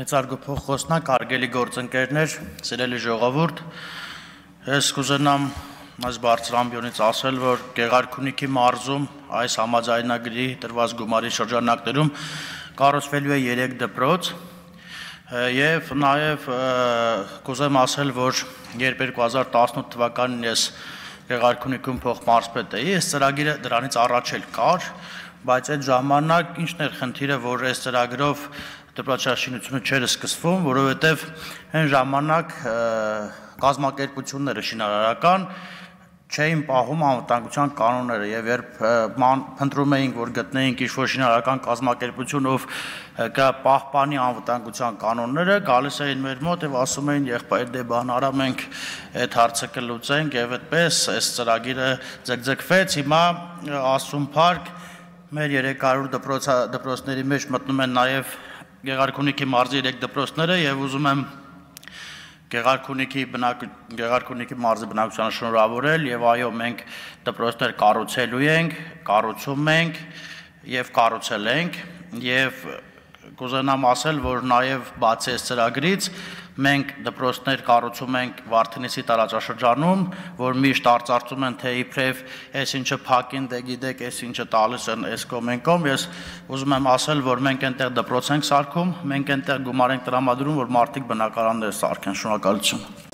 Մեծարգո փոխխոսնակ, հարգելի գործընկերներ, սիրելի ժողովուրդ, ես կուզենամ այս բարձր ամբիոնից ասել, որ Գեղարքունիքի մարզում այս համաձայնագրի տրված գումարի շրջանակներում կառուցվելու է 3 դպրոց եւ նաեւ կուզեմ ասել, որ երբ 2018 թվականին ես Գեղարքունիքում փոխմարզպետ էի, այս ծրագիրը դրանից առաջ էլ կար, բայց այդ ժամանակ ինչն էր խնդիրը, որ այս ծրագրով դպրոցաշինությունը չէր սկսվում, որովհետև այն ժամանակ կազմակերպությունները շինարարական չէին պահում անվտանգության կանոնները եւ երբ փնտրում էինք, որ գտնեինք ինչ-որ շինարարական կազմակերպություն, ով կպահպանի անվտանգության կանոնները, գալիս էին մեր մոտ եւ ասում էին, եղբայր դե բան արա, մենք այդ հարցը կլուծենք եւ այդպես այս ծրագիրը ձգձգվեց, հիմա Ասում Փարք մեր 300 դպրոցների մեջ մտնում են նաեւ Գեղարքունիքի մարզի 3 դպրոցները եւ ուզում եմ Գեղարքունիքի մարզի բնակչությանը շնորհավորել եւ այո մենք դպրոցներ կառուցելու ենք, կառուցում ենք եւ կառուցել ենք եւ կուզենամ ասել, որ նաեւ բացի այս ծրագրից մենք դպրոցներ կառուցում ենք Վարդենիսի տարածաշրջանում, որ միշտ արծարծում են թե իբրև այս ինչը փակին, դե գիտեք, այս ինչը տալիս են այս կոմենկոմ, ես ուզում եմ ասել, որ մենք այնտեղ դպրոց ենք սարքում, մենք այնտեղ գումար ենք տրամադրում, որ մարդիկ բնակարաններ սարքեն, շնորհակալություն։